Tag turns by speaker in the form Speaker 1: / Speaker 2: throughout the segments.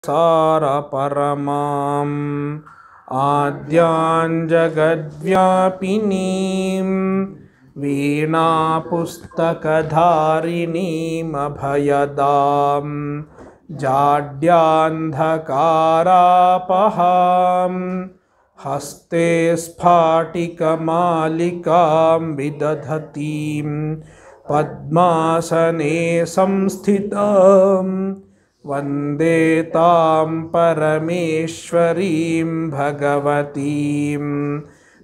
Speaker 1: सारपरमाम् आद्यां जगद्व्यापिनीं वीणापुस्तकधारिणीमभयदां जाड्यान्धकारापहां हस्ते स्फाटिकमालिकां विदधतीं पद्मासने संस्थितां वन्दे तां परमेश्वरीं भगवतीं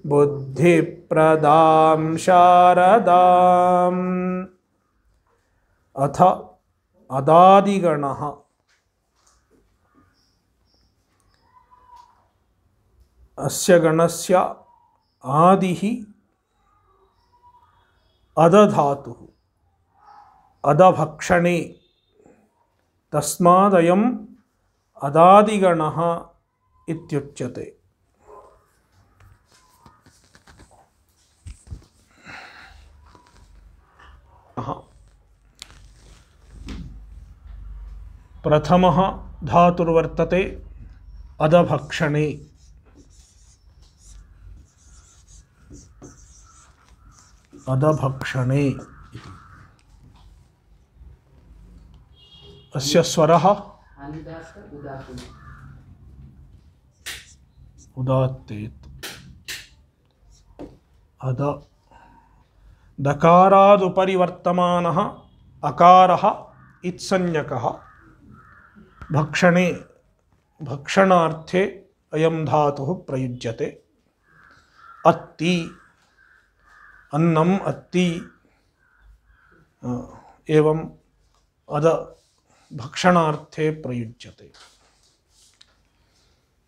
Speaker 1: बुद्धिप्रदां शारदाम्। अथ अदादिगणः। अस्य गणस्य आदिः अदधातुः अदभक्षणे तस्मादयम् अदादिगणः इत्युच्यते। प्रथमः धातुर्वर्तते अदभक्षणे। अदभक्षणे अस्य स्वरः उदात्तेत्। अद दकारादुपरि वर्तमानः अकारः इत्संज्ञकः। भक्षणे भक्षणार्थे अयं धातुः प्रयुज्यते। अत्ति अन्नम् अत्ति एवं अद भक्षणार्थे प्रयुज्यते।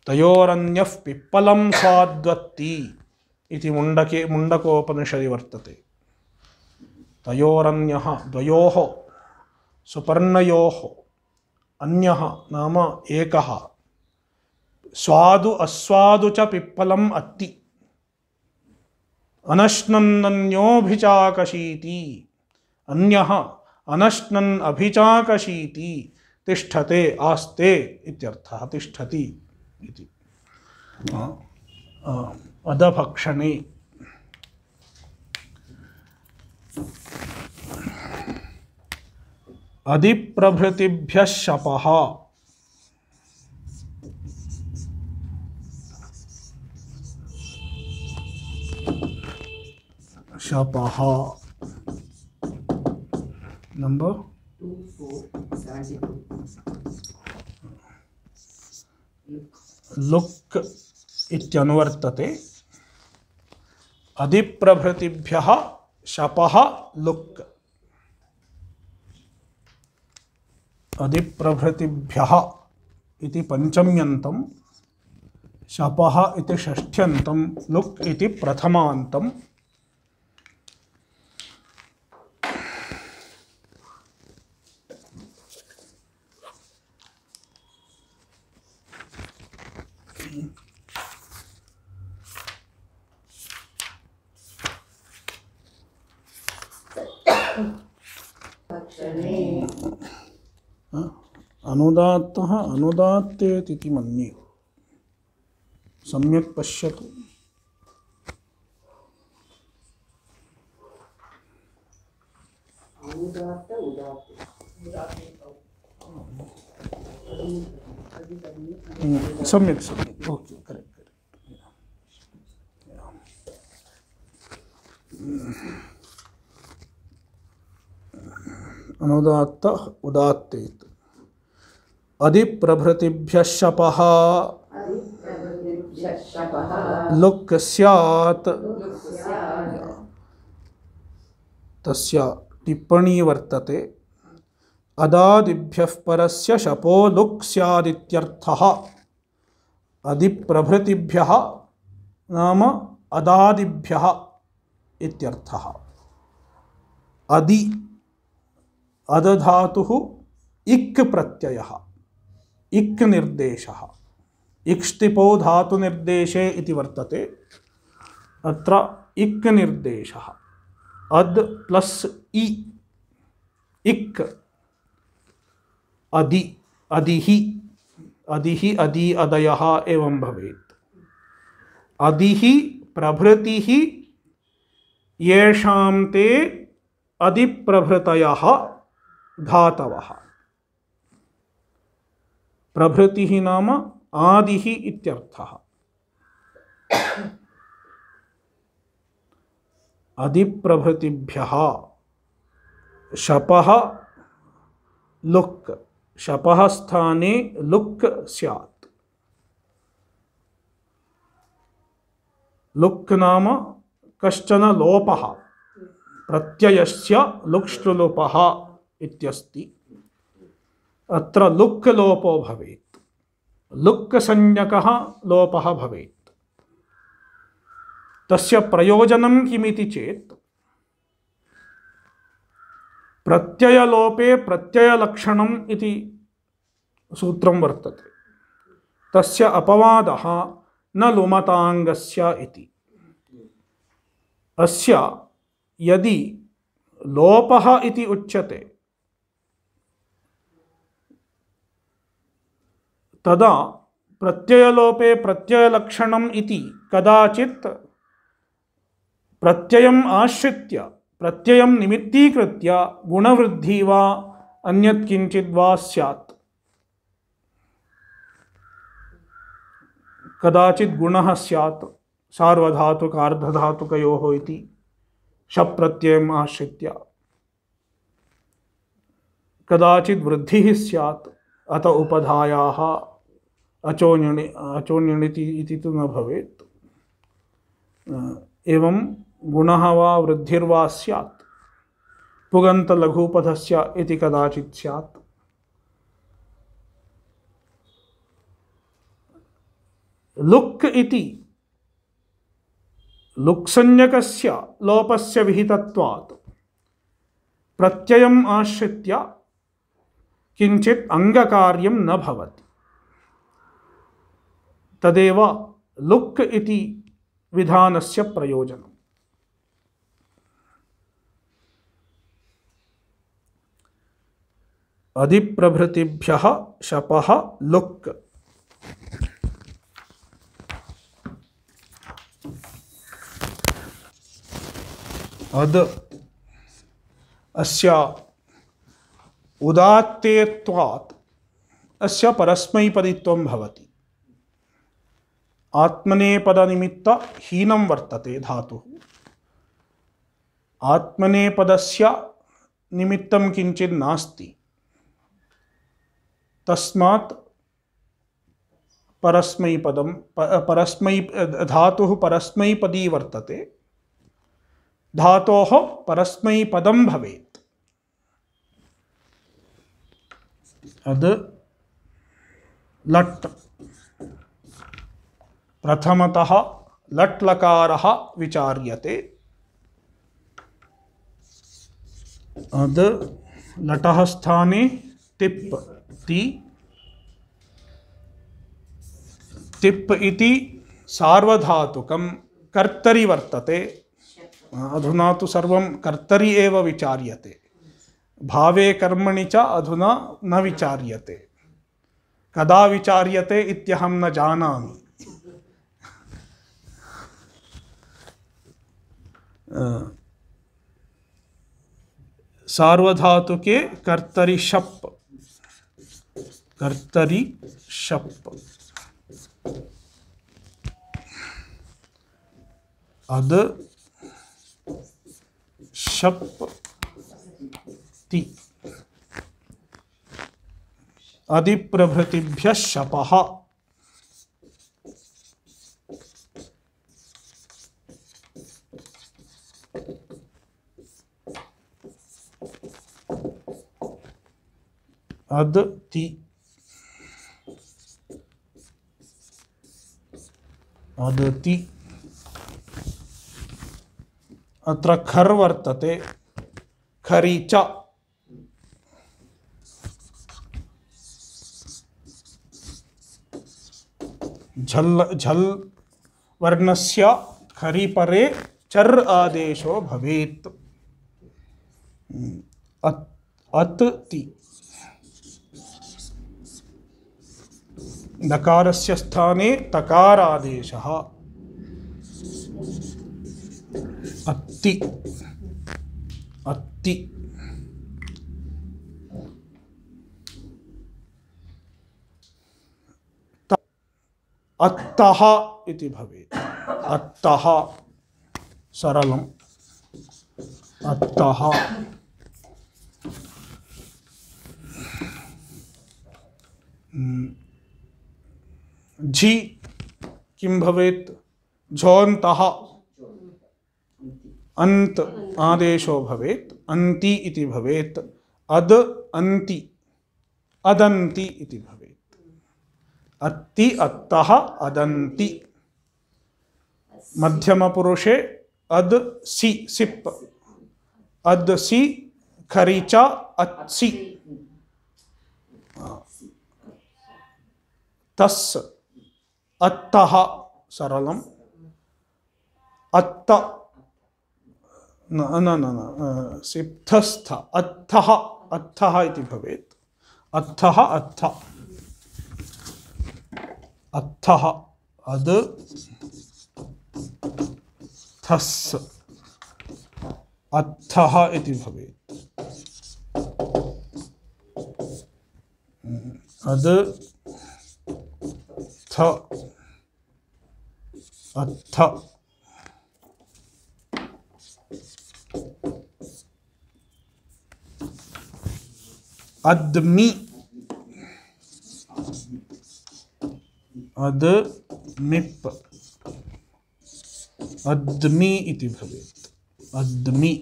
Speaker 1: तयोरन्यः पिप्पलं स्वाद्वत्ति इति मुण्डकोपनिषदि वर्तते। तयोरन्यः द्वयोः सुपर्णयोः अन्यः नाम एकः स्वादु अस्वादु च पिप्पलम् अत्ति अनश्नन्नन्योऽभिचाकशीति अन्यः अनश्नन् अभिचाकशीति तिष्ठते आस्ते इत्यर्थः। तिष्ठति इति अदभक्षणे। अधिप्रभृतिभ्यः शपः। शपः नंबर 2472 लुक् इत्यनुवर्तते। अधिप्रभृतिभ्यः शपः लुक्। अधिप्रभृतिभ्यः इति पंचम्यन्तं, शपः इति षष्ठ्यन्तं, लुक् इति प्रथमान्तं। अनुदात्तः अनुदात्तेति मन्ये। सम्यक् पश्यतु। सम्यक् सम्यक् ओके करेक्ट। अनुदात्त उदात्तेत्। अधिप्रभृतिभ्यः शपः लुक् स्यात्। तस्य टिप्पणी वर्तते। अदादिभ्यः परस्य शपो लुक् स्यादित्यर्थः। अधिप्रभृतिभ्यः नाम अदादिभ्यः इत्यर्थः। अधि अदधातुः इक् प्रत्ययः, इक् निर्देशः। इक्ष्टिपो धातु निर्देशे इति वर्तते। अत्र इक् निर्देशः। अद् प्लस् इ इक् अधि अधिहि अधिः अदि अदयः एवं भवेत्। अधिः प्रभृतिः येषां ते अधिप्रभृतयः धातवः। प्रभृतिः नाम आदिः इत्यर्थः। अधिप्रभृतिभ्यः शपः लुक्, शपः स्थाने लुक् स्यात्। लुक् नाम कश्चन लोपः, प्रत्ययस्य लुक्ष्लुलोपः इत्यस्ति। अत्र लुक् लोपो भवेत्, लुक् संज्ञकः लोपः भवेत्। तस्य प्रयोजनं किमिति चेत् प्रत्ययलोपे प्रत्ययलक्षणम् इति सूत्रं वर्तते। तस्य अपवादः न लुमताङ्गस्य इति। अस्य यदि लोपः इति उच्यते तदा प्रत्ययलोपे प्रत्ययलक्षणम् इति कदाचित् प्रत्ययम् आश्रित्य, प्रत्ययं निमित्तीकृत्य गुणवृद्धि वा अन्यत् किञ्चित् वा स्यात्। कदाचित् गुणः स्यात् सार्वधातुक अर्धधातुकयोः इति शप् प्रत्ययम् आश्रित्य, कदाचित् वृद्धिः स्यात् अत उपधायाः अचोण्यणिति इति तु न भवेत्। एवं गुणः वा वृद्धिर्वा स्यात्। पुगन्तलघूपधस्य इति कदाचित् स्यात्। लुक् इति लुक्संज्ञकस्य लोपस्य विहितत्वात् प्रत्ययम् आश्रित्य किञ्चित् अङ्गकार्यं न भवति। तदेव लुक् इति विधानस्य प्रयोजनम्। अधिप्रभृतिभ्यः शपः लुक्। अद् अस्य उदात्तेत्वात् अस्य परस्मैपदित्वं भवति। आत्मनेपदनिमित्त हीनं वर्तते धातुः। आत्मनेपदस्य निमित्तं किञ्चित् नास्ति, तस्मात् परस्मैपदं धातुः परस्मैपदी वर्तते। धातोः परस्मैपदं भवेत्। अद् लट्। प्रथमतः लट् लकारः विचार्यते। अद् लटः स्थाने तिप् ति। तिप् इति सार्वधातुकं कर्तरि वर्तते। अधुना तु सर्वं कर्तरि एव विचार्यते। भावे कर्मणि च अधुना न विचार्यते। कदा विचार्यते इत्यहं न जानामि। सार्वधातुके कर्तरि शप्, कर्तरि शप्। अद् शप् ति। अधिप्रभृतिभ्यः शपः। अद् ति। अद् ति। अत्र खर् वर्तते। खरि च। झल् वर्णस्य खरि परे चर् आदेशो भवेत्। अत् ति। नकारस्य स्थाने तकारादेशः अत्ति अत्ति अत्तः इति भवेत् अत्तः सरलम् अत्तः झि किं भवेत् झोन्तः अन्त आदेशो भवेत् अन्ति इति भवेत् अद अन्ति अदन्ति इति भवेत् अत्ति अत्तः अदन्ति मध्यमपुरुषे अद सि सिप् अद सि खरीचा अत्सि तस् अत्तः सरलम् अत्त न न न न सिप्थस्थ अत्थः अत्थः इति भवेत् अत्थः अत्थ अत्थः अद थस् अत्थः इति भवेत् अद थ अत्थ अद्मि अदमिप् अद्मि इति भवेत् अद्मि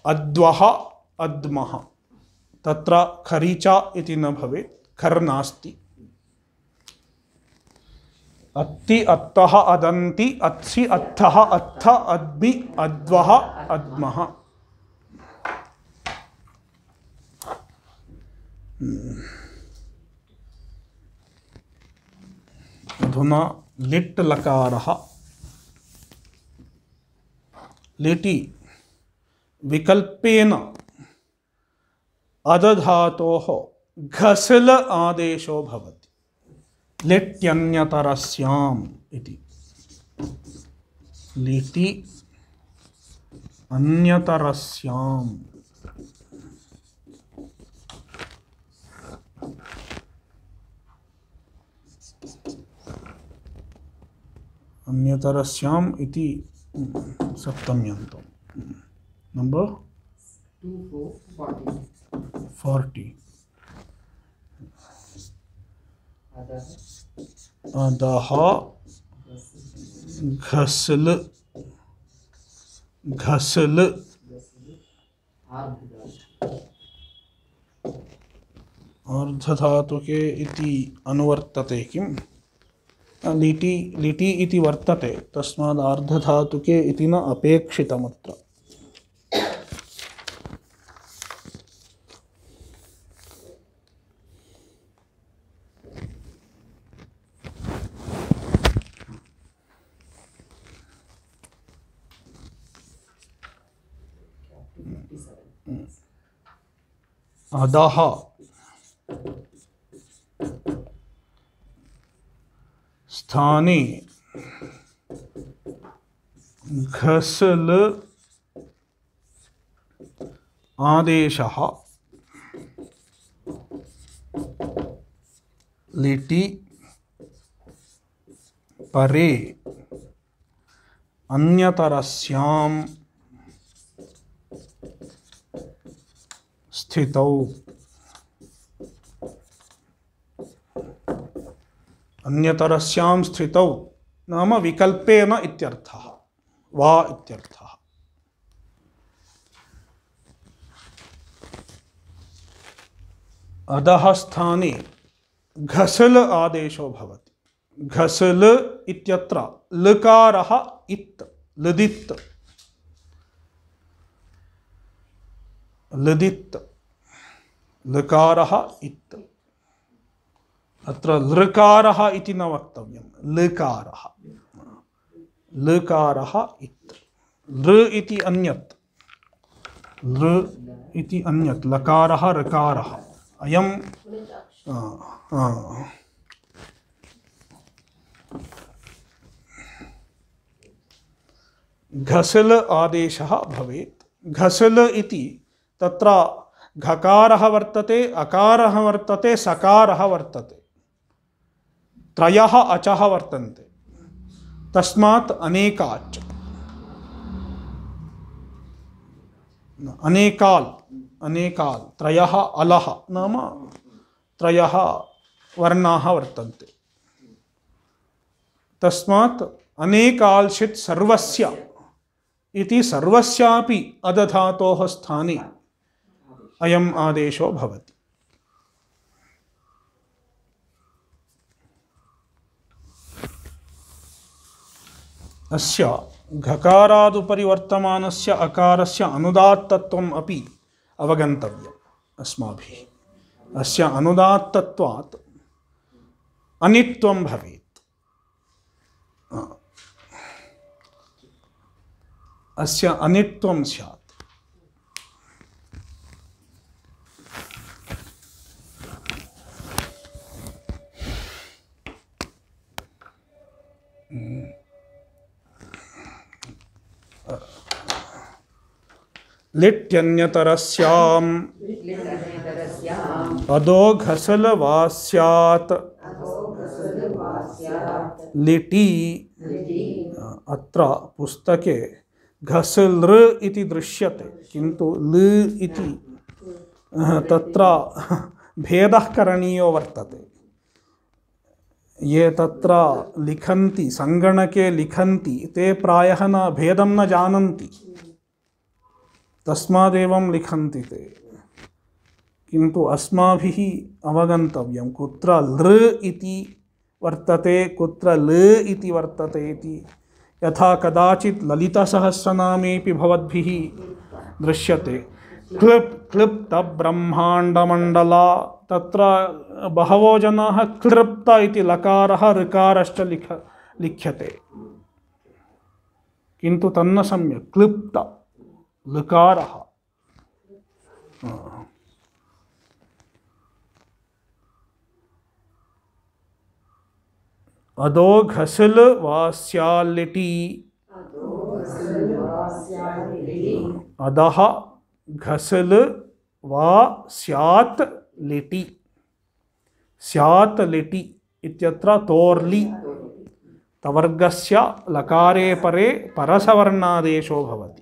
Speaker 1: अद्वः अद्मः तत्र खरीचा इति न भवेत् खर् नास्ति अत्ति अत्तः अदन्ति अत्सि अत्थः अत्थ अद्मि अद्वः अद्मः अधुना लिट् लकारः लिटि विकल्पेन अदधातोः घसल आदेशो भवति लिट्यन्यतरस्याम् इति लिटि अन्यतरस्याम् अन्यतरस्याम् इति सप्तम्यन्तम् नंबर 40 अदः घसल घसल अर्धधातुके इति अनुवर्तते किम् लिटि लिटि इति वर्तते तस्माद् अर्धधातुके इति न अपेक्षितमत्र अधः स्थाने घसल आदेशः लिटि परे अन्यतरस्याम् स्थितौ अन्यतरस्यां स्थितौ नाम विकल्पेन इत्यर्थः वा इत्यर्थः अधः स्थाने घसल आदेशो भवति घसल इत्यत्र लकारः इत् लदित् लदित् लकारः इत् अत्र लृकारः इति न वक्तव्यं लकारः लकारः इत् लृ इति अन्यत् लृ इति अन्यत् लकारः ऋकारः अयं घसिल आदेशः भवेत्। घसिल इति तत्र घकारः वर्तते, अकारः वर्तते, सकारः वर्तते, त्रयः अचः वर्तन्ते, तस्मात् अनेकाच् अनेकाल् अनेकाल् त्रयः अलः नाम त्रयः वर्णाः वर्तन्ते, तस्मात् अनेकाल्शित् सर्वस्य इति सर्वस्यापि अदधातोः स्थाने अयम् आदेशो भवति। अस्य घकारादुपरि वर्तमानस्य अकारस्य अनुदात्तत्वम् अपि अवगन्तव्यम् अस्माभिः। अस्य अनुदात्तत्वात् अनित्वं भवेत्। अस्य अनित्वं स्यात्। लिट्यन्यतरस्याम् अदो घसल वा स्यात् लिटि। अत्र पुस्तके घसलृ इति दृश्यते, किन्तु ल इति तत्र भेदः करणीयो वर्तते। ये तत्र लिखन्ति, सङ्गणके लिखन्ति, ते प्रायः न भेदं न जानन्ति, तस्मादेवं लिखन्ति ते। किन्तु अस्माभिः अवगन्तव्यं कुत्र लृ इति वर्तते, कुत्र ल इति वर्तते इति। यथा कदाचित् ललितसहस्रनामेऽपि भवद्भिः दृश्यते, क्लिप्त ब्रह्माण्डमण्डला, तत्र बहवो जनाः क्लृप्त इति लकारः ऋकारश्च लिख्यते, किन्तु तन्न सम्यक् क्लिप्त लकारः। अदो घसिल वा स्याल्लिटि, अधः घसिल वा स्यात् लिटि। स्यात् लिटि इत्यत्र तोर्लि तवर्गस्य लकारे परे परसवर्णादेशो भवति।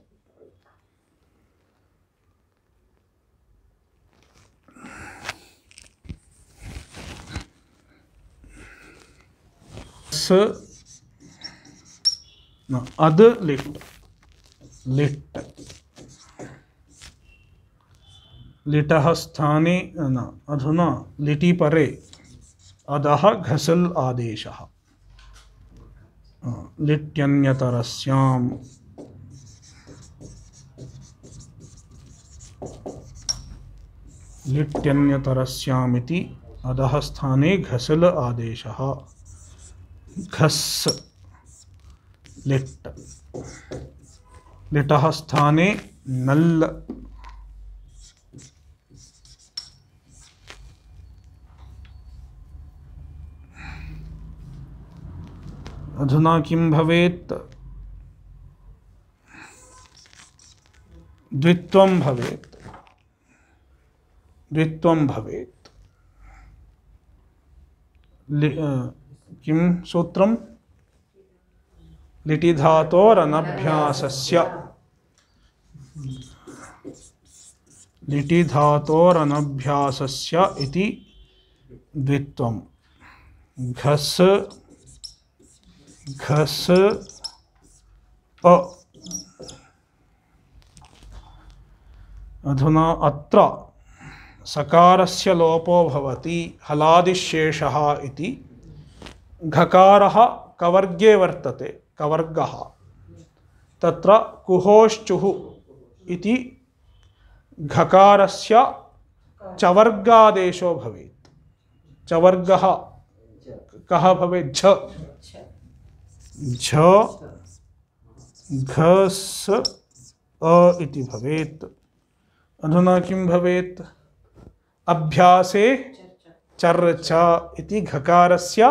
Speaker 1: अद लिट् लिट् लिटः स्थाने न, अधुना लिटि परे अधः घसिल आदेशः। लिट्यन्यतरस्याम् लिट्यन्यतरस्यामिति अधः स्थाने घसिल आदेशः। घस् लिट्, लिटः स्थाने नल्। अधुना किं भवेत्? द्वित्वं भवेत्, द्वित्वं भवेत्। किं सूत्रं? लिटि धातोरनभ्यासस्य, लिटि धातोरनभ्यासस्य इति द्वित्वं। घस् घस् अ। अधुना अत्र सकारस्य लोपो भवति, हलादिशेषः इति। घकारः कवर्गे वर्तते, कवर्गः, तत्र कुहोश्चुः इति घकारस्य चवर्गादेशो भवेत्। चवर्गः कः भवेत्? झ झ घस् अ इति भवेत्। अधुना किं भवेत्? अभ्यासे चर्च इति घकारस्य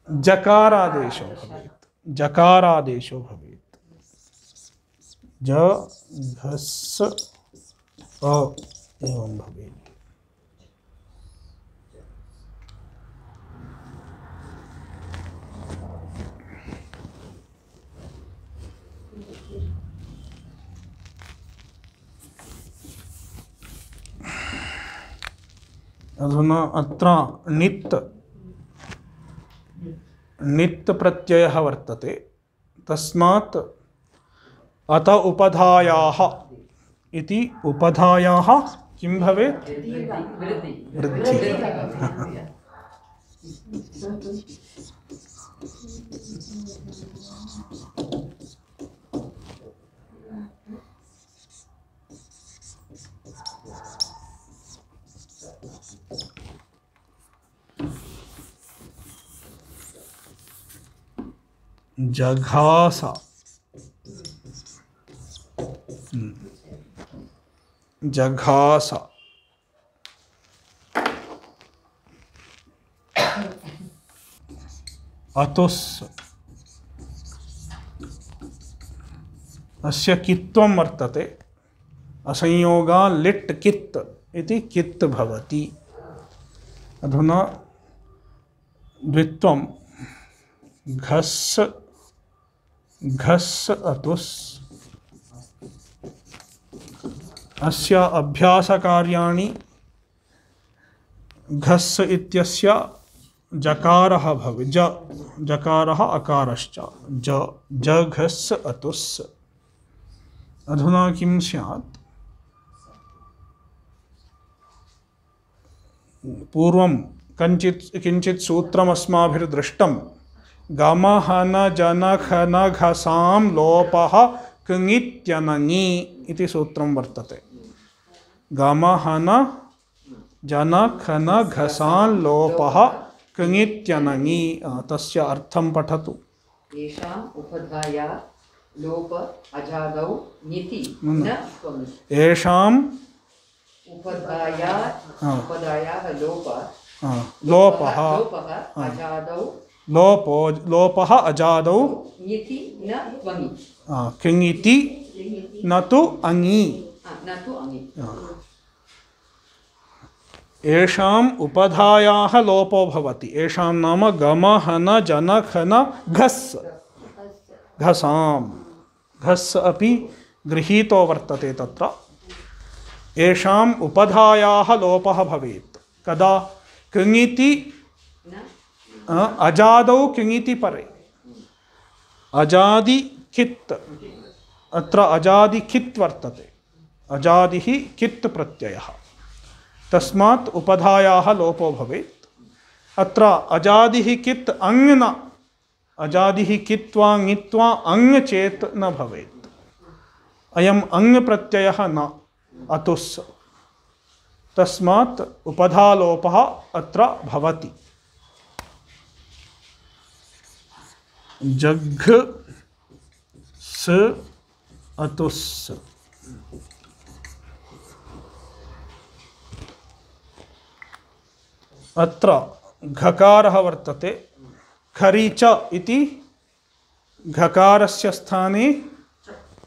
Speaker 1: जकारादेशो भवेत्, जकारादेशो भवेत्। ज घस् अ एवं भवेत्। अधुना अत्र नित् प्रत्ययः वर्तते, तस्मात् अत उपधायाः इति उपधायाः किं भवेत्? वृद्धि। जघास जघास अतुस् अस्य कित्वं वर्तते, असंयोगा लिट् कित् इति कित् भवति। अधुना द्वित्वं घस् घस् अतुस् अस्य अभ्यासकार्याणि घस् इत्यस्य जकारः भवेत्, जकारः अकारश्च जघस् अतुस्। अधुना किं स्यात्? पूर्वं किञ्चित् सूत्रमस्माभिर्दृष्टं। गमहन जनखन घसां लोपः कृङित्यनङि इति सूत्रं वर्तते। गमहन जनखन घसां लोपः कृङित्यनङि। तस्य अर्थं पठतु।
Speaker 2: येषाम् उपधाया लोप अजादौ ङिति न त्वम्।
Speaker 1: येषाम्
Speaker 2: उपधायाः
Speaker 1: लोपः
Speaker 2: अजादौ
Speaker 1: लोपः अजादौ
Speaker 2: ङिति न त्वङि।
Speaker 1: कृङिति न तु अङि। येषाम् उपधायाः लोपो भवति। येषां नाम गमहन जनखन घस्, घसां घस् अपि गृहीतो वर्तते तत्र। येषाम् उपधायाः लोपः भवेत् कदा? कृङिति अजादौ कृङिति परे अजादि खित्, अत्र अजादि खित् वर्तते, अजादिः कित् प्रत्ययः, तस्मात् उपधायाः लोपो भवेत्। अत्र अजादिः कित् अङ् न, अजादिः कित्वा ङित्वा अङ् चेत् न भवेत्। अयम् अङ् प्रत्ययः न, अतुस्, तस्मात् उपधालोपः अत्र भवति। जघ् स अतुस्। अत्र घकारः वर्तते, खरीच इति घकारस्य स्थाने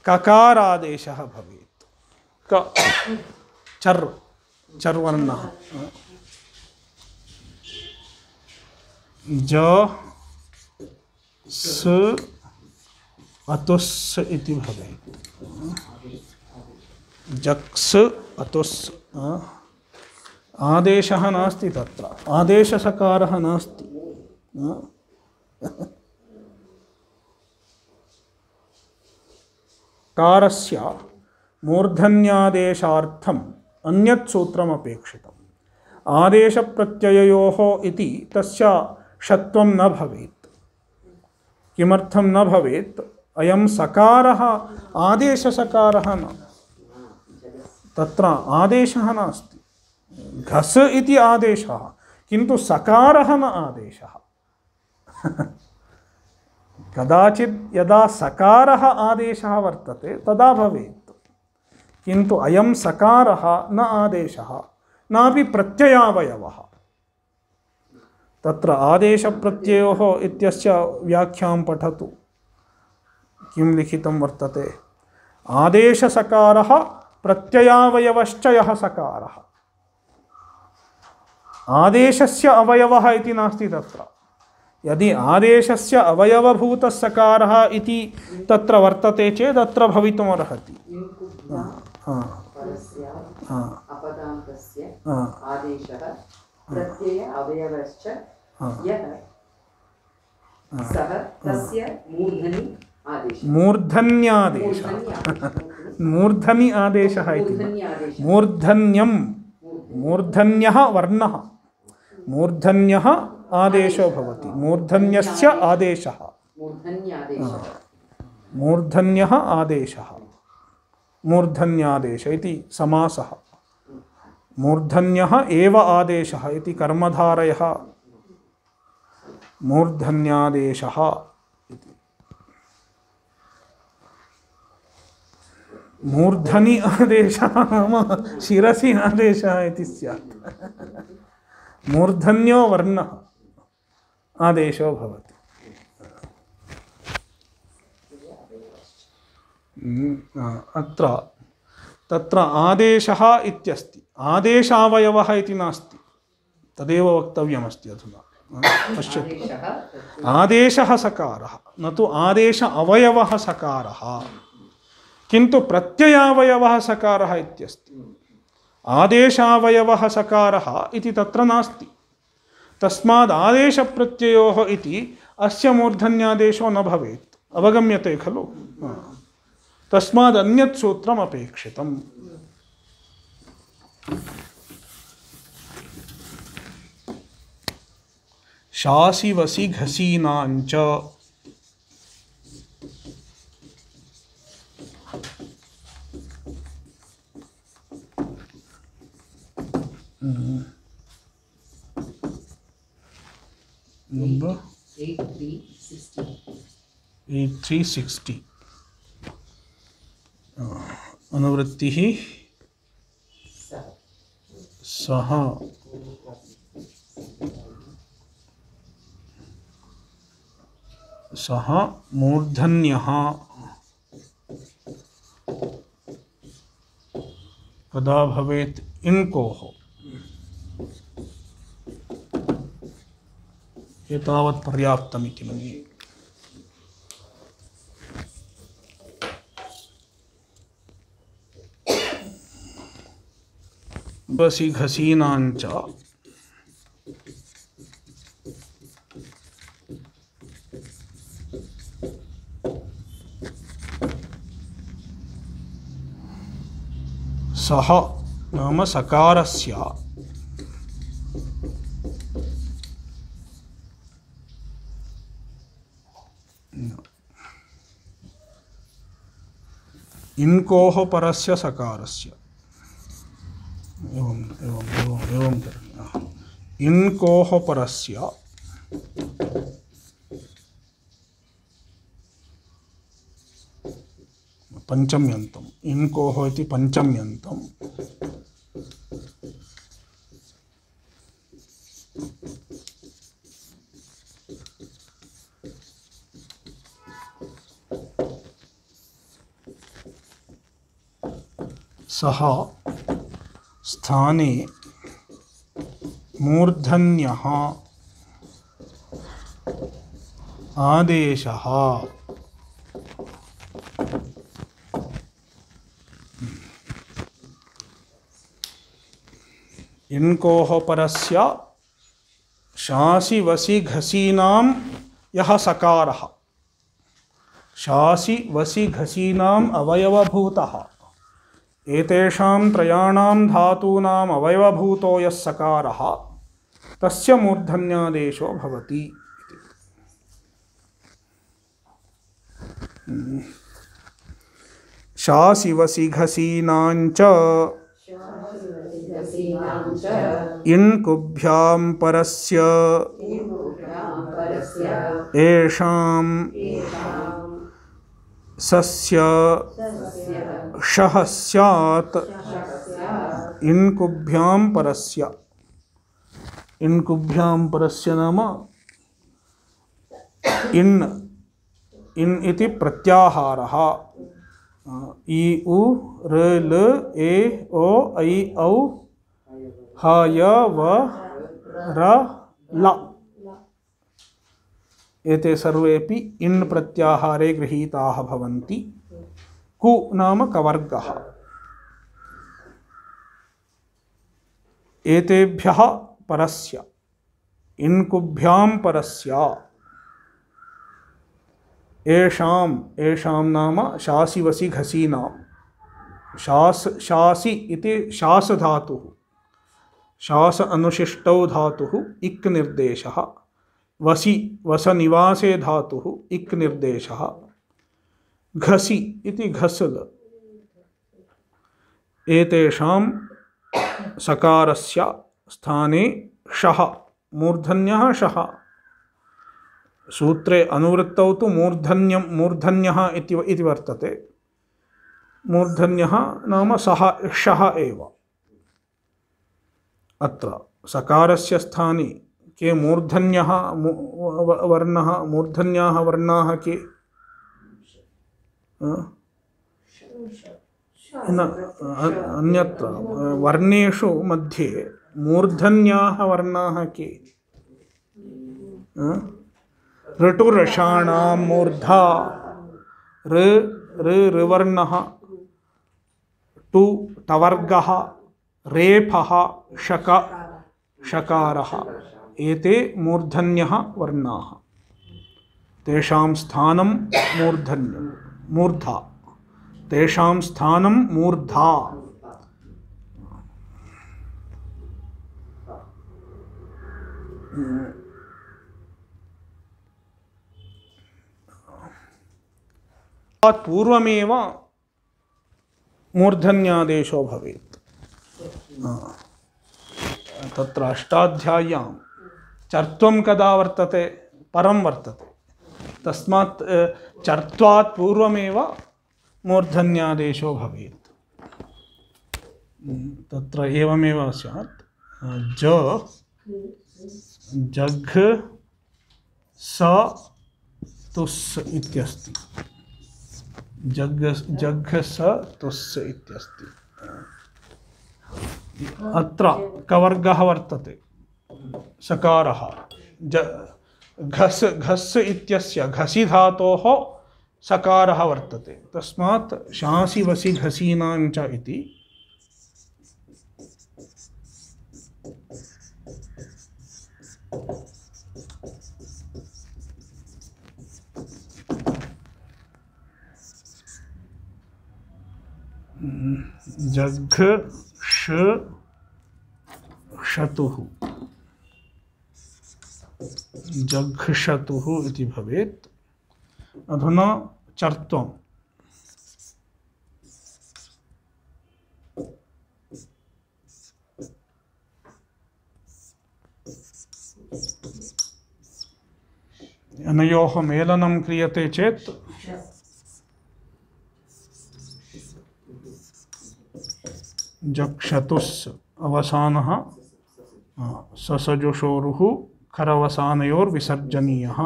Speaker 1: ककारादेशः भवेत्। चर्वर्णः ज स अतुस् इति भवेत्। जक्स् अतुस्। आदेशः नास्ति तत्र, आदेशसकारः नास्ति। कारस्य मूर्धन्यादेशार्थम् अन्यत् सूत्रम् अपेक्षितम्। आदेशप्रत्यययोः इति तस्य षत्वं न भवेत्। किमर्थं न भवेत्? अयं सकारः आदेशसकारः न, तत्र आदेशः नास्ति। घस् इति आदेशः, किन्तु सकारः न आदेशः। कदाचित् यदा सकारः आदेशः वर्तते तदा भवेत्, किन्तु अयं सकारः न आदेशः नापि प्रत्ययावयवः। तत्र आदेशप्रत्ययोः इत्यस्य व्याख्यां पठतु। किं लिखितं वर्तते? आदेशसकारः प्रत्ययावयवश्च यः सकारः। आदेशस्य अवयवः इति नास्ति तत्र। यदि आदेशस्य अवयवभूतः सकारः इति तत्र वर्तते चेत् अत्र भवितुमर्हति।
Speaker 2: अपदान्तस्य आदेशः प्रत्यय अवयवश्च यः सः तस्य मूर्धनि आदेशः।
Speaker 1: मूर्धन्यादेशः मूर्धनि आदेशः इति मूर्धन्यं मूर्धन्यः वर्णः मूर्धन्यः आदेशो भवति। मूर्धन्यस्य आदेशः मूर्धन्यः आदेशः मूर्धन्यादेश इति समासः। मूर्धन्यः एव आदेशः इति कर्मधारयः मूर्धन्यादेशः इति। मूर्धनि आदेशः नाम शिरसि आदेशः इति स्यात्। मूर्धन्यो वर्णः आदेशो भवति। अत्र तत्र आदेशः इत्यस्ति, आदेशावयवः इति नास्ति, तदेव वक्तव्यमस्ति अधुना। पश्यतु, आदेशः सकारः न तु आदेश अवयवः सकारः, किन्तु प्रत्ययावयवः सकारः इत्यस्ति। आदेशावयवः सकारः इति तत्र नास्ति। तस्माद् आदेशप्रत्ययोः इति अस्य मूर्धन्यादेशो न भवेत्। अवगम्यते खलु? तस्माद् अन्यत् सूत्रम् अपेक्षितम्। शासि वसि घसीनाञ्च number 8360 अनुवृत्तिः सः सः मूर्धन्यः कदा भवेत्? इङ्कोः। एतावत् पर्याप्तमिति मन्ये। वसि घसीनाञ्च सः नाम सकारस्य इन्कोः परस्य सकारस्य एवं करणीयः। इन्कोः परस्य पञ्चम्यन्तम्, इन्कोः इति पञ्चम्यन्तम् सः स्थाने मूर्धन्यः आदेशः इन्कोः परस्य शासि वसि घसीनां यः सकारः, शासि वसि घसीनाम् अवयवभूतः, एतेषां त्रयाणां धातूनाम् अवयवभूतो यः सकारः तस्य मूर्धन्यादेशो भवति। शासि वसि घसीनाञ्च इन्कुभ्यां परस्य येषां सस्य शः स्यात् इन्कुभ्यां परस्य। इन्कुभ्यां परस्य नाम इन् इति प्रत्याहारः, इ उ र ल ए ओ ऐ औ ह य व र ल एते सर्वेपि इन् प्रत्याहारे गृहीताः भवन्ति। कु नाम कवर्गः। एतेभ्यः परस्य इन्कुभ्यां परस्य येषां नाम शासि वसि घसीनां शासि इति शास धातुः शास अनुशिष्टौ धातुः इक् निर्देशः वसि वसनिवासे धातुः इक् निर्देशः घसि इति घसल एतेषां सकारस्य स्थाने शः मूर्धन्यः शः सूत्रे अनुवृत्तौ तु मूर्धन्यः इति वर्तते। मूर्धन्यः नाम सः शः एव। अत्र सकारस्य स्थाने के मूर्धन्यः वर्णः मूर्धन्याः वर्णाः के अन्यत्र वर्णेषु मध्ये मूर्धन्याः वर्णाः के ऋटुरषाणां मूर्धा ऋवर्णः टु टवर्गः रेफः शकारः एते मूर्धन्यः वर्णाः तेषां स्थानं मूर्धा तेषां स्थानं मूर्धा। पूर्वमेव मूर्धन्यादेशो भवेत्। तत्र अष्टाध्याय्यां चर्त्वं कदा वर्तते परं वर्तते तस्मात् चर्त्वात् पूर्वमेव मूर्धन्यादेशो भवेत्। तत्र एवमेव स्यात् जघ स तुस् इत्यस्ति जघ स तुस् इत्यस्ति। अत्र कवर्गः वर्तते सकारः घस् इत्यस्य घसि धातोः सकारः वर्तते तस्मात् शासि वसि घसीनां च इति जघ शतुः जघ्षतुः इति भवेत्। अधुना चर्त्वम् अनयोः मेलनं क्रियते चेत् जक्षतुस् अवसानः ससजुषोरुः खरवसानयोर्विसर्जनीयः।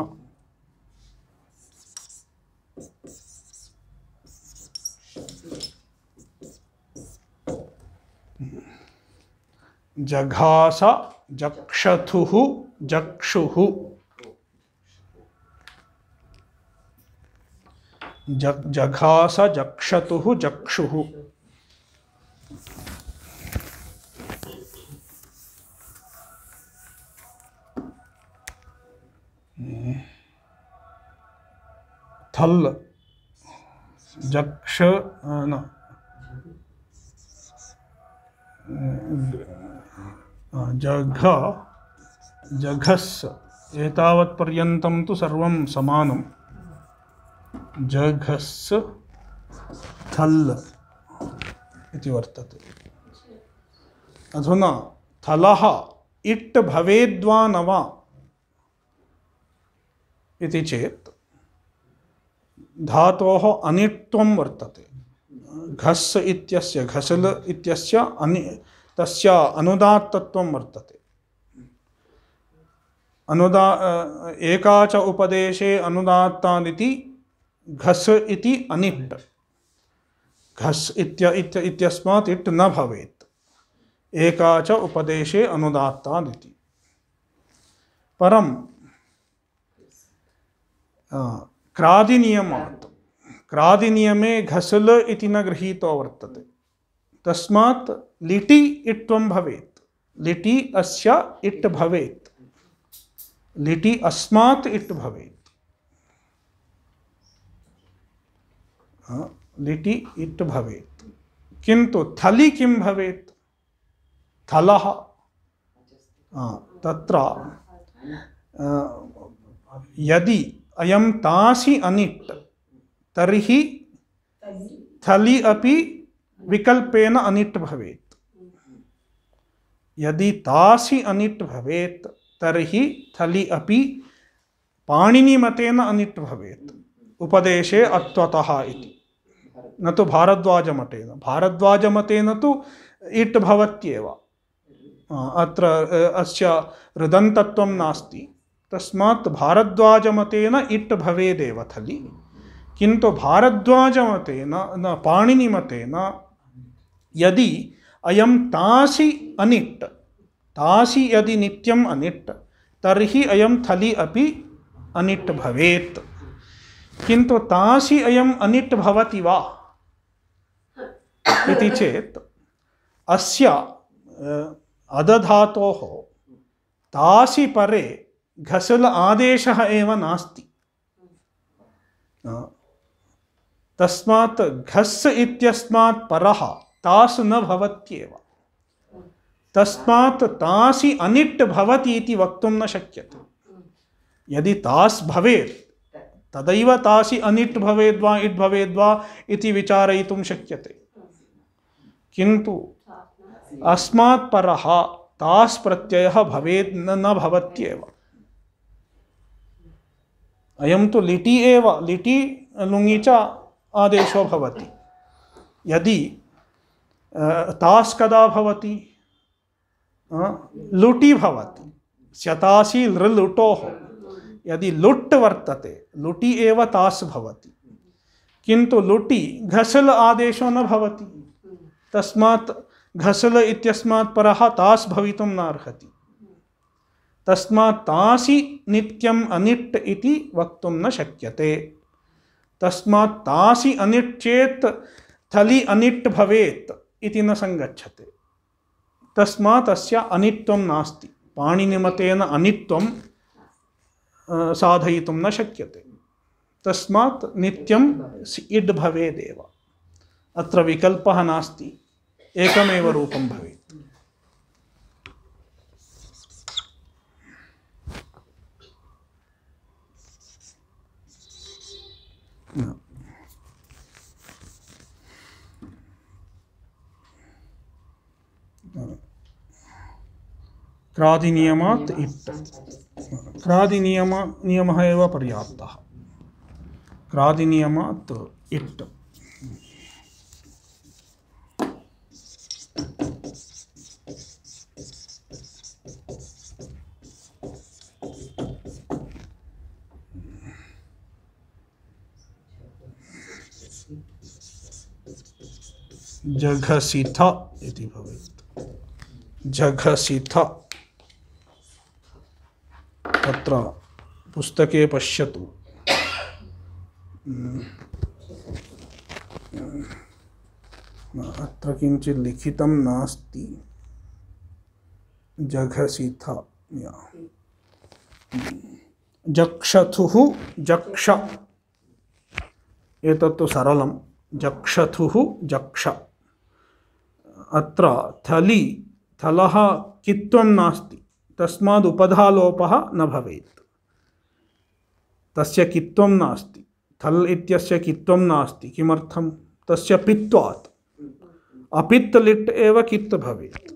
Speaker 1: जघास जक्षथुः जक्षुः जघास जक्षतुः जक्षुः। थल जक्ष जघ जघस् एतावत् पर्यन्तं तु सर्वं समानं। जघस् थल् इति वर्तते। अधुना थलः इट् भवेद्वा न वा इति चेत् धातोः अनिट्त्वं वर्तते। घस् इत्यस्य घसल इत्यस्य तस्य अनुदात्तत्वं वर्तते। एका च उपदेशे अनुदात्तादिति घस् इति अनिट् घस् इत्यस्मात् इट् न भवेत्। एका च उपदेशे अनुदात्तादिति। परं क्रादिनियमात्, क्रादिनियमे घसल इति न गृहीतो वर्तते, तस्मात् लिटि इट्त्वं भवेत्। लिटि अस्य इट् भवेत्, लिटि अस्मात् इट् भवेत्। लिटि इट् भवेत्, किन्तु थलि किं भवेत्? थलः। तत्र यदि अयं तासि अनिट् तर्हि थलि अपि विकल्पेन अनिट् भवेत्। यदि तासि अनिट् भवेत् तर्हि थलि अपि पाणिनिमतेन अनिट् भवेत्, उपदेशे अत्वतः इति, न तु भारद्वाजमतेन। भारद्वाजमतेन तु इट् भवत्येव, अत्र अस्य ऋदन्तत्वं नास्ति, तस्मात् भारद्वाजमतेन इट् भवेदेव थलि। किन्तु भारद्वाजमतेन न पाणिनिमतेन यदि अयं तासि अनिट्, तासि यदि नित्यम् अनिट् तर्हि अयं थलि अपि अनिट् भवेत्। किन्तु तासि अयम् अनिट् भवति वा इति चेत् अस्य अदधातोः तासि परे घसल आदेशः एव नास्ति। तस्मात् घस् इत्यस्मात् परः तास् न भवत्येव, तस्मात् तासि अनिट् भवति इति वक्तुं न शक्यते। यदि तास् भवेत् तदैव तासि अनिट् भवेद्वा इट् भवेद्वा इति विचारयितुं शक्यते। किन्तु अस्मात् परः तास् प्रत्ययः भवेत् न भवत्येव। अयं तु लिटि एव, लिटि लुङि च आदेशो भवति। यदि तास् कदा भवति? लुटि भवति, स्यतासि लृलुटोः। यदि लुट् वर्तते, लुटि एव तास् भवति, किन्तु लुटि घसल आदेशो न भवति, तस्मात् घसल इत्यस्मात् परः तास् भवितुं न अर्हति। तस्मात् तासि नित्यम् अनिट् इति वक्तुं न शक्यते। तस्मात् तासि अनिट् चेत् थलि अनिट् भवेत् इति न संगच्छते। तस्मात् अस्य अनित्वं नास्ति, पाणिनिमतेन अनित्वं साधयितुं न शक्यते। तस्मात् नित्यम् इड् भवेदेव। अत्र विकल्पः नास्ति, एकमेव रूपं भवेत्। क्रादिनियमात् इट्, क्रादिनियमः एव पर्याप्तः। क्रादिनियमात् इट्। जघसिथ इति भवेत्। जघसिथ तत्र पुस्तके पश्यतु, अत्र किञ्चित् लिखितं नास्ति। जघसिथ जक्षथुः जक्ष, एतत्तु सरलं। जक्षथुः जक्ष। अत्र थलि थलः कित्वं नास्ति, तस्माद् उपधालोपः न भवेत्। तस्य कित्वं नास्ति, थल् इत्यस्य कित्वं नास्ति। किमर्थं? तस्य पित्वात्। अपित् लिट् एव कित् भवेत्।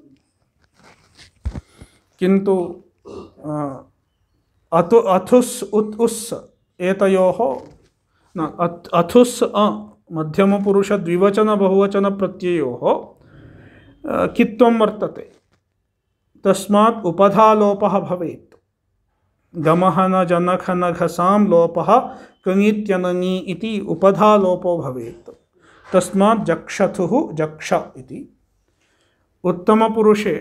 Speaker 1: किन्तु अथुस् उत् उस् एतयोः न, अथुस् मध्यमपुरुष द्विवचन बहुवचन प्रत्ययोः कित्वं वर्तते, तस्मात् उपधालोपः भवेत्। गमः न जनख न घसां लोपः कङित्यनङि इति उपधालोपो भवेत्। तस्मात् जक्षथुः जक्ष इति। उत्तमपुरुषे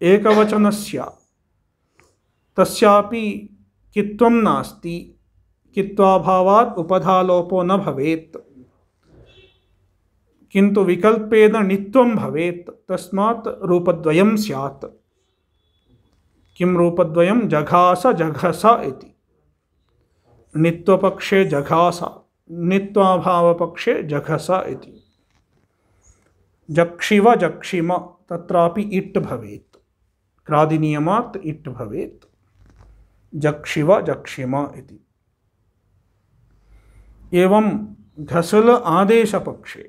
Speaker 1: एकवचनस्य तस्यापि कित्वं नास्ति, कित्वाभावात् उपधालोपो न भवेत्, किन्तु विकल्पेन नित्वं भवेत्, तस्मात् रूपद्वयं स्यात्। किं रूपद्वयं? जघास जघस इति। नित्वपक्षे जघास, नित्वाभावपक्षे जघस इति। जक्षिव जक्षिम, तत्रापि इट् भवेत्, क्रादिनियमात् इट् भवेत्। जक्षिव जक्षिम इति। एवं घसल आदेशपक्षे,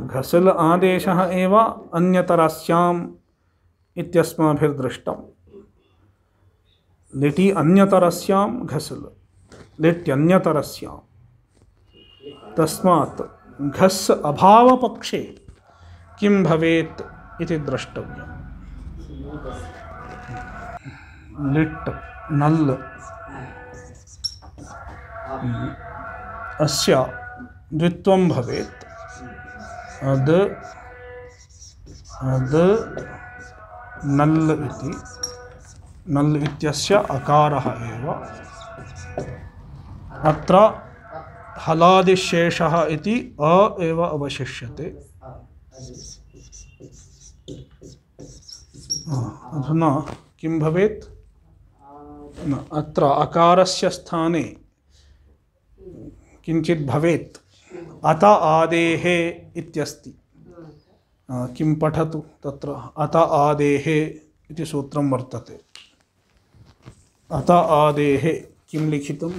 Speaker 1: घसल आदेशः एव अन्यतरस्याम् इत्यस्माभिर्दृष्टम्। लिटि अन्यतरस्यां घसल, लिट्यन्यतरस्यां। तस्मात् घस् अभावपक्षे किं भवेत् इति द्रष्टव्यम्। लिट् नल् अस्य द्वित्वं भवेत्। अद् नल् इति। नल् इत्यस्य अकारः एव। अत्र हलादिशेषः इति अ एव अवशिष्यते। अधुना किं भवेत्? अत्र अकारस्य स्थाने किञ्चित् भवेत्। अत आदेः इत्यस्ति। किं पठतु तत्र? अत आदेः इति सूत्रं वर्तते। अत आदेः किं लिखितम्?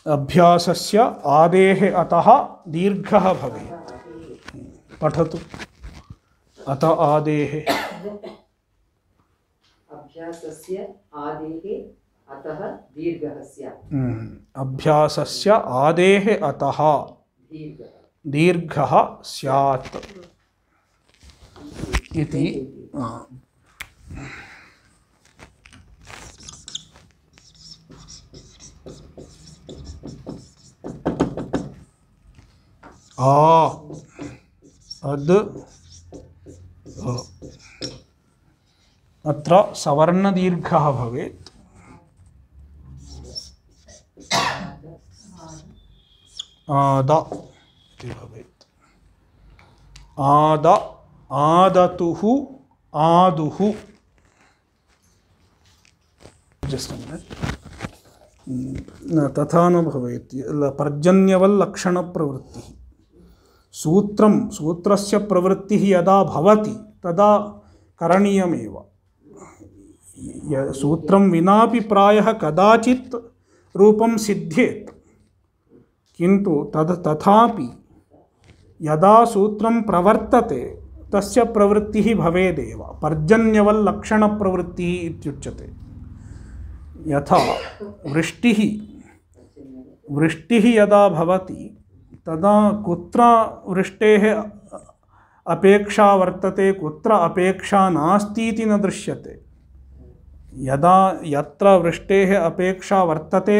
Speaker 1: अभ्यासस्य आदेः अतः दीर्घः भवेत्। पठतु। अत आदेः।
Speaker 2: अभ्यासस्य आदेः अतः दीर्घः स्यात्।
Speaker 1: अभ्यासस्य आदेः अतः दीर्घः स्यात् इति। अद् अत्र सवर्णदीर्घः भवेत्। आद इति भवेत्। आद आदतुः आदुः। तथा न भवेत्। पर्जन्यवल्लक्षणप्रवृत्तिः। सूत्रस्य प्रवृत्तिः यदा भवति तदा करणीयमेव। सूत्रं विनापि प्रायः कदाचित् रूपं सिद्ध्येत्, किन्तु तथापि यदा सूत्रं प्रवर्तते तस्य प्रवृत्तिः भवेदेव। पर्जन्यवल्लक्षणप्रवृत्तिः इत्युच्यते। यथा वृष्टिः यदा भवति तदा कुत्र वृष्टेः अपेक्षा वर्तते, कुत्र अपेक्षा नास्ति इति न दृश्यते। यत्र वृष्टेः अपेक्षा वर्तते,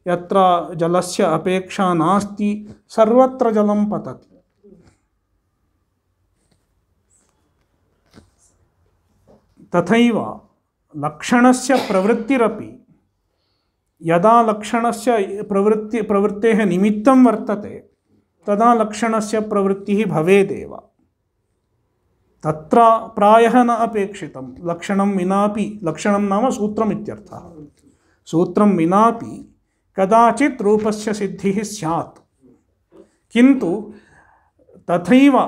Speaker 1: यत्र जलस्य अपेक्षा नास्ति, सर्वत्र जलं पतति। तथैव लक्षणस्य प्रवृत्तिरपि यदा लक्षणस्य प्रवृत्तेः निमित्तं वर्तते तदा लक्षणस्य प्रवृत्तिः भवेदेव। तत्र प्रायः न अपेक्षितं। लक्षणं विनापि, लक्षणं नाम सूत्रम् इत्यर्थः। सूत्रं विनापि कदाचित् रूपस्य सिद्धिः स्यात्, किन्तु तथैव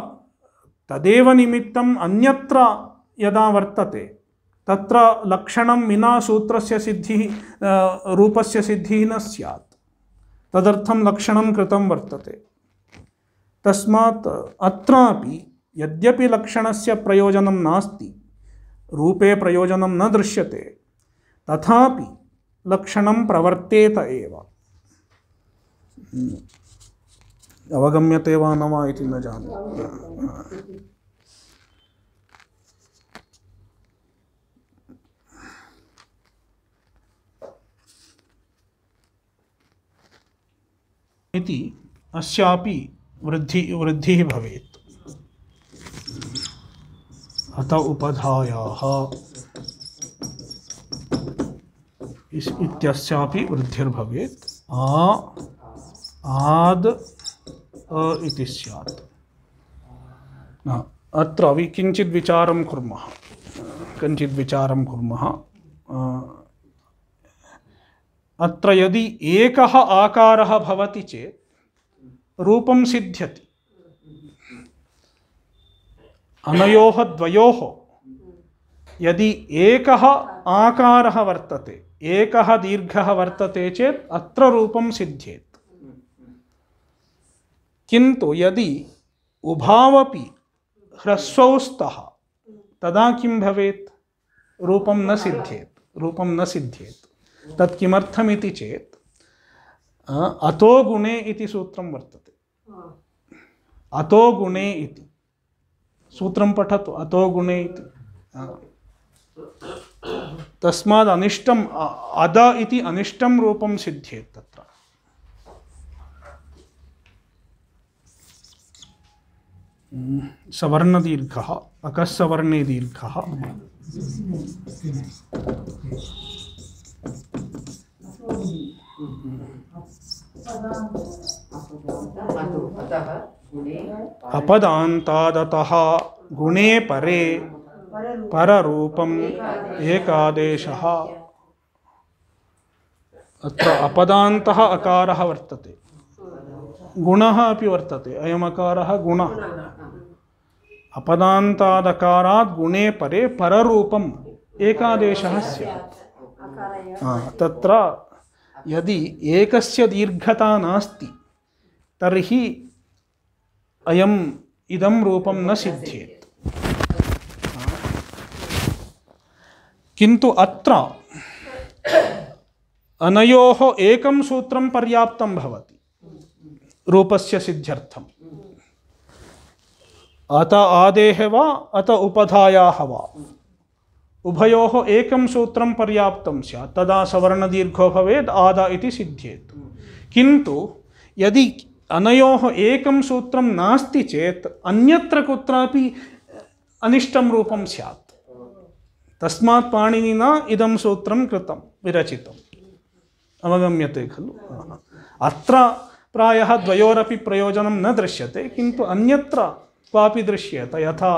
Speaker 1: तदेव निमित्तम् अन्यत्र यदा वर्तते तत्र लक्षणं विना सूत्रस्य सिद्धिः, रूपस्य सिद्धिः न स्यात्। तदर्थं लक्षणं कृतं वर्तते। तस्मात् अत्रापि यद्यपि लक्षणस्य प्रयोजनं नास्ति, रूपे प्रयोजनं न दृश्यते, तथापि लक्षणं प्रवर्तेत एव। अवगम्यते वा न वा इति न जाने। इति अस्यापि वृद्धिः भवेत्। अत उपधायाः इत्यस्यापि वृद्धिर्भवेत्। आद् इति स्यात्। अत्र किञ्चित् विचारं कुर्मः। अत्र यदि एकः आकारः भवति चेत् रूपं सिद्ध्यति। अनयोः द्वयोः यदि एकः आकारः वर्तते, एकः दीर्घः वर्तते चेत् अत्र रूपं सिद्ध्येत्। किन्तु यदि उभावपि ह्रस्वौ स्तः तदा किं भवेत्? रूपं न सिद्ध्येत्। तत् किमर्थमिति चेत् अतो गुणे इति सूत्रं वर्तते। अतो गुणे इति सूत्रं पठतु। अतो गुणे इति तस्माद् अनिष्टम् अद इति अनिष्टं रूपं सिद्ध्येत्। तत्र सवर्णदीर्घः अकस्सवर्णे दीर्घः अपदान्तादतः गुणे परे पररूपम् एकादेशः। अत्र अपदान्तः अकारः वर्तते, गुणः अपि वर्तते। अयम् अकारः गुणः। अपदान्तादकारात् गुणे परे पररूपम् एकादेशः स्यात्। तत्र यदि एकस्य दीर्घता नास्ति तर्हि इदं रूपं न सिद्ध्येत्। किन्तु अत्र अनयोः एकं सूत्रं पर्याप्तं भवति रूपस्य सिद्ध्यर्थम्। अत आदेः वा अत उपधायाः वा उभयोः एकं सूत्रं पर्याप्तं स्यात्। तदा सवर्णदीर्घो भवेत्, आद इति सिद्ध्येत्। किन्तु यदि अनयोः एकं सूत्रं नास्ति चेत् अन्यत्र कुत्रापि अनिष्टं रूपं स्यात्। तस्मात् पाणिनिना इदं सूत्रं कृतं, विरचितम्। अवगम्यते खलु? अत्र प्रायः द्वयोरपि प्रयोजनं न दृश्यते, किन्तु अन्यत्र क्वापि द्दृश्येत। यथा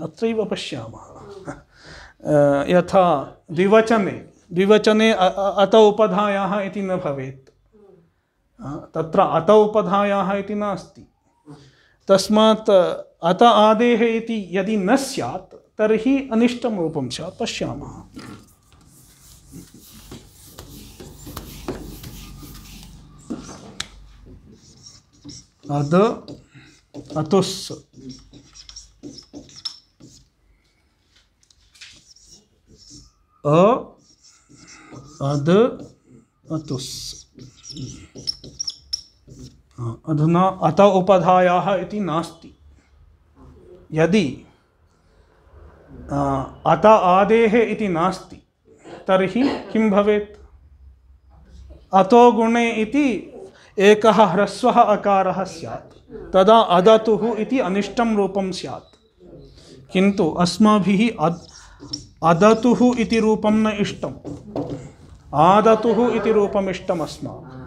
Speaker 1: अत्रैव पश्यामः। यथा द्विवचने अत उपधायाः इति न भवेत्। तत्र अत उपधायाः इति नास्ति। तस्मात् अत आदेः इति यदि न स्यात् तर्हि अनिष्टं रूपं स्यात्। पश्यामः। अद अतुस् अद अतुस्। अधुना अत उपधायाः इति नास्ति। यदि अत आदेः इति नास्ति तर्हि किं भवेत्? अतो गुणे इति एकः ह्रस्वः अकारः स्यात्, तदा अदतुः इति अनिष्टं रूपं स्यात्। किन्तु अस्माभिः अदतुः इति रूपं न इष्टम्, आदतुः इति रूपम् इष्टम् अस्माभिः।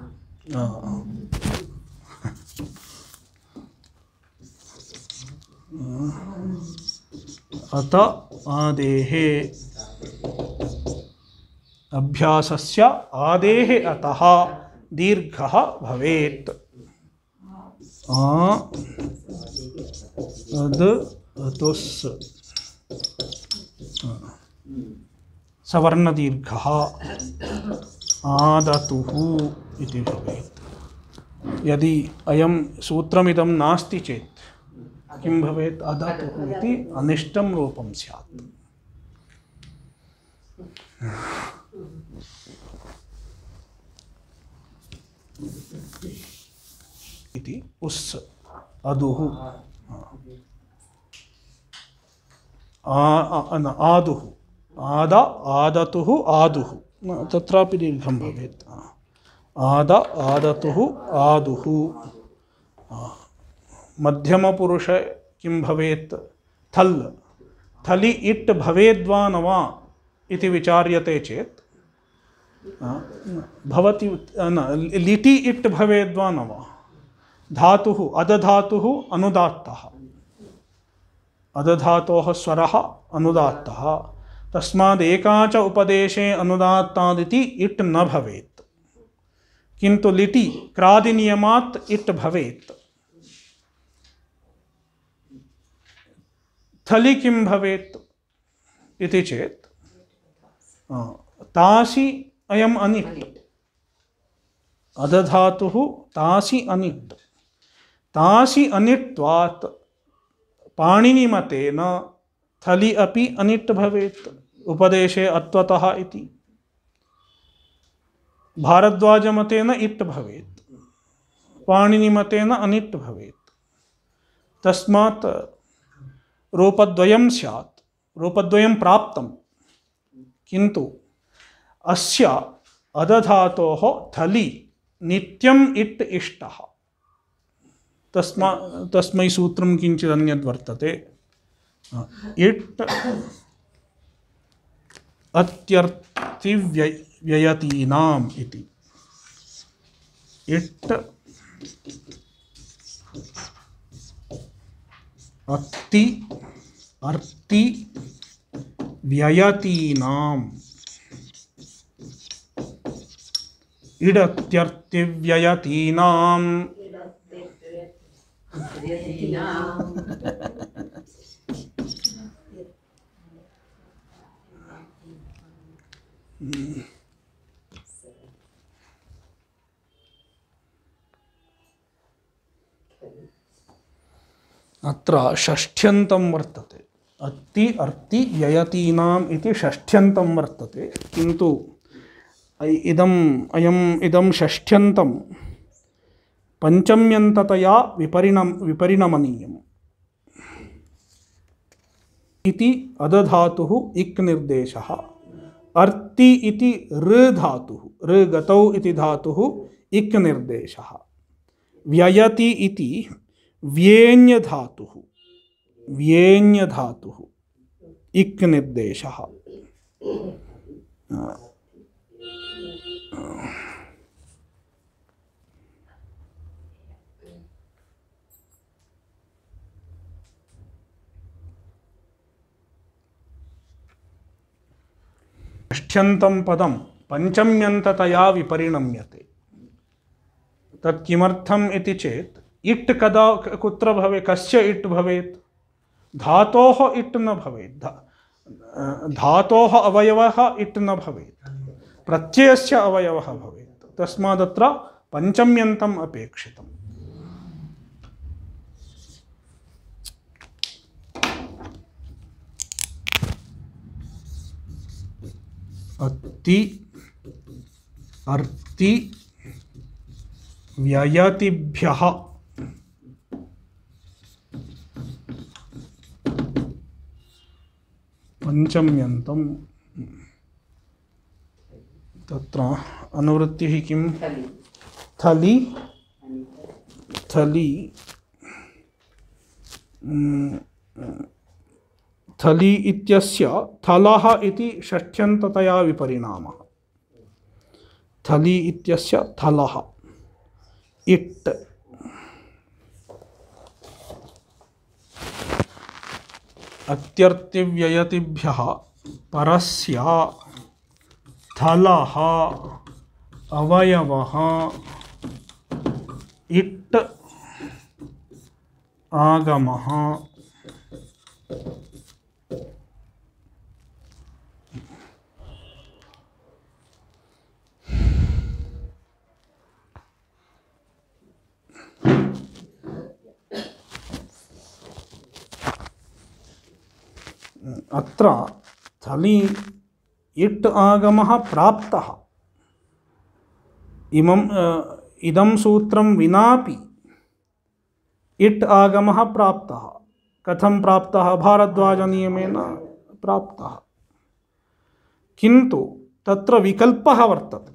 Speaker 1: अत आदेः अभ्यासस्य आदेः अतः दीर्घः भवेत्। अद अतुस् सवर्णदीर्घः आदतुः इति भवेत्। यदि अयं सूत्रमिदं नास्ति चेत् किं भवेत्? अदतुः इति अनिष्टं रूपं स्यात्। इति उस् अदुः आदुः आद आदतुः आदुः तत्रापि दीर्घं भवेत्। आद आदतुः आदुः। मध्यमपुरुष किं भवेत्? थल्। थलि इट् भवेद्वा न वा इति विचार्यते चेत् भवति लिटि इट् भवेद्वा न वा। धातुः अदधातुः अनुदात्तः, अदधातोः स्वरः अनुदात्तः, तस्माद् एका च उपदेशे अनुदात्तादिति इट् न भवेत्। किन्तु लिटि क्रादिनियमात् इट् भवेत्। थलि किं भवेत् इति चेत् तासि अयम् अनिट्। अदधातुः तासि अनिट्। तासि अनिट्वात् पाणिनिमतेन थलि अपि अनिट् भवेत् उपदेशे अत्वतः इति। भारद्वाजमतेन इट् भवेत्, पाणिनिमतेन अनिट् भवेत्। तस्मात् रूपद्वयं स्यात्, रूपद्वयं प्राप्तं, किन्तु अस्य अदधातोः थलि नित्यम् इट् इष्टः। तस्मै सूत्रं किञ्चित् अन्यद् वर्तते। इट् अत्यर्थिव्ययतीनाम् इति। इट् अति अर्ति व्ययतीनाम्। इडत्यर्थिव्ययतीनाम्। अत्र षष्ठ्यन्तं वर्तते। अति अर्ति व्ययतीनाम् इति षष्ठ्यन्तं वर्तते, किन्तु इदं षष्ठ्यन्तं पञ्चम्यन्ततया विपरिणमनीयम् इति अदधातुः इक् निर्देशः। अर्ति इति ऋ धातुः, ऋ गतौ इति धातुः इक् निर्देशः। व्ययति इति व्येन्यधातुः इक् निर्देशः। षष्ठ्यन्तं पदं पञ्चम्यन्ततया विपरिणम्यते। तत् किमर्थम् इति चेत् इट् कदा कुत्र भवेत्, कस्य इट् भवेत्? धातोः इट् न भवेत्। धातोः अवयवः इट् न भवेत्, प्रत्ययस्य अवयवः भवेत्। तस्मादत्र पञ्चम्यन्तम् अपेक्षितम्। अति अर्ति व्ययतिभ्यः पञ्चम्यन्तं। तत्र अनुवृत्तिः किं? थलि थलि इत्यस्य थलः इति षष्ठ्यन्ततया विपरिणामः। थलि इत्यस्य थलः इट्। अत्यर्तिव्ययतिभ्यः परस्य थलः अवयवः इट् आगमः। अत्र थलि इट् आगमः प्राप्तः। इदं सूत्रं विनापि इट् आगमः प्राप्तः। कथं प्राप्तः? भारद्वाजनियमेन प्राप्तः। किन्तु तत्र विकल्पः वर्तते,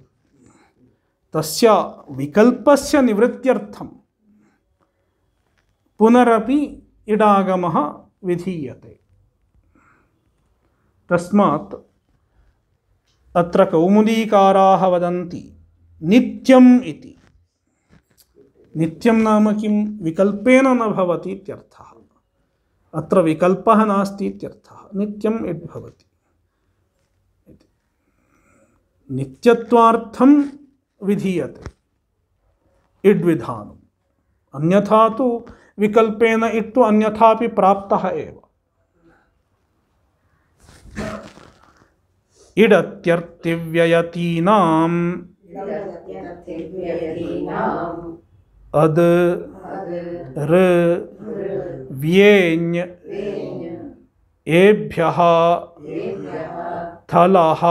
Speaker 1: तस्य विकल्पस्य निवृत्त्यर्थं पुनरपि इडागमः विधीयते। तस्मात् अत्र कौमुदीकाराः वदन्ति नित्यम् इति। नित्यं नाम किं? विकल्पेन न भवति इत्यर्थः। अत्र विकल्पः नास्ति इत्यर्थः, नित्यम् इति भवति। नित्यत्वार्थं विधीयते इड्विधानम्, अन्यथा तु विकल्पेन इट्टु अन्यथापि प्राप्तः एव। इडत्यर्थिव्ययतीनाम् अद ऋ व्येञ् एभ्यः थलः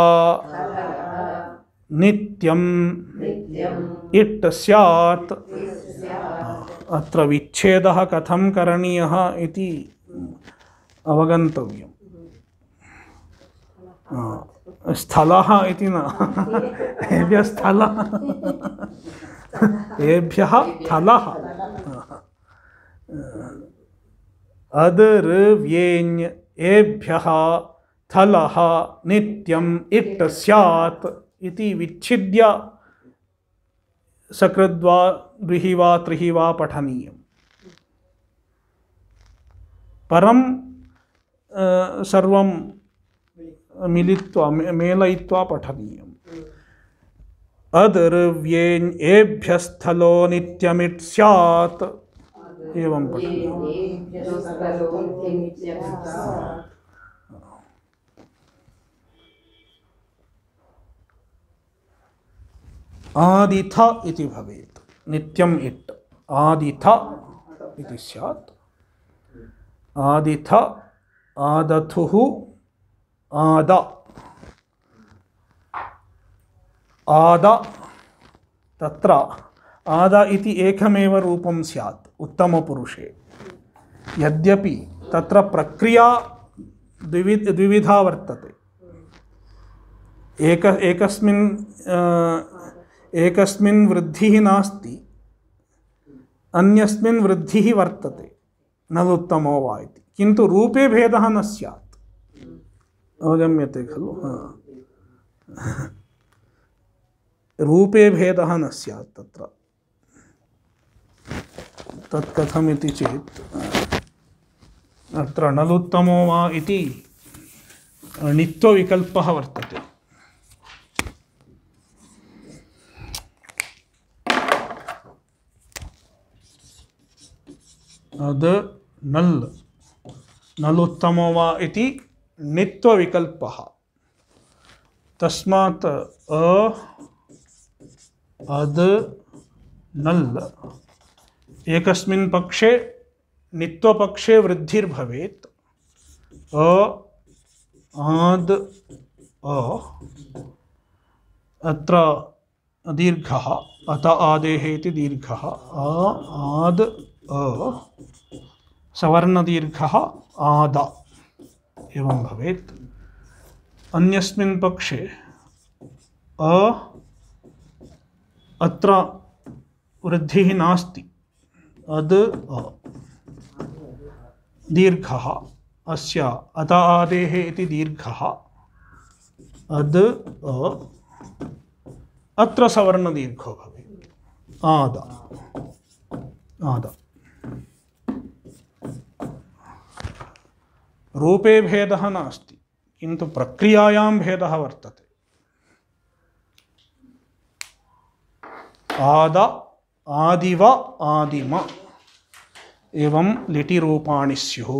Speaker 1: नित्यम् इट् स्यात्। अत्र विच्छेदः कथं करणीयः इति अवगन्तव्यम्। स्थलः इति न, एभ्यः स्थलः, एभ्यः थलः। अदृ व्येञ् एभ्यः थलः नित्यम् इट् स्यात् इति विच्छिद्य सकृद्वा द्विः वा त्रिः वा पठनीयम्। परं सर्वं मिलित्वा मेलयित्वा पठनीयम्। अदृव्येञ् एभ्यस्थलो नित्यमिट् स्यात्, एवं पठनीयम्। आदिथ इति भवेत्, नित्यम् इट् आदिथ इति स्यात्। आदिथ आदथुः आद आद, तत्र आद इति एकमेव रूपं स्यात् उत्तमपुरुषे। यद्यपि तत्र प्रक्रिया द्विविधा वर्तते। एकस्मिन् वृद्धिः नास्ति, अन्यस्मिन् वृद्धिः वर्तते, नलुत्तमो वा इति, किन्तु रूपे भेदः न स्यात्। अवगम्यते खलु? रूपे भेदः न स्यात् तत्र। तत् कथमिति चेत् अत्र नलुत्तमो वा इति णित्वविकल्पः वर्तते। अद नल् नलुत्तमो वा इति णित्वविकल्पः। तस्मात् अद नल् एकस्मिन् पक्षे णित्वपक्षे वृद्धिर्भवेत्। आद अत्र दीर्घः, अत आदेः इति दीर्घः। आद सवर्णदीर्घः आद, एवं भवेत्। अन्यस्मिन् पक्षे अत्र वृद्धिः नास्ति, अद दीर्घः, अस्य अत आदेः इति दीर्घः अद अत्र सवर्णदीर्घो भवेत्, आद आद। रूपे भेदः नास्ति, किन्तु प्रक्रियायां भेदः वर्तते। आद आदिव आदिम एवं लिटिरूपाणि स्युः।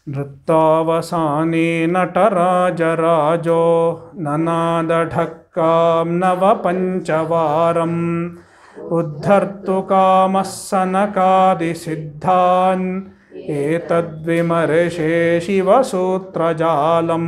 Speaker 1: नृत्तावसाने नटराजराजो ननादढक्कां नवपञ्चवारम् उद्धर्तुकामः सनकादिसिद्धान् एतद्विमर्शे शिवसूत्रजालम्।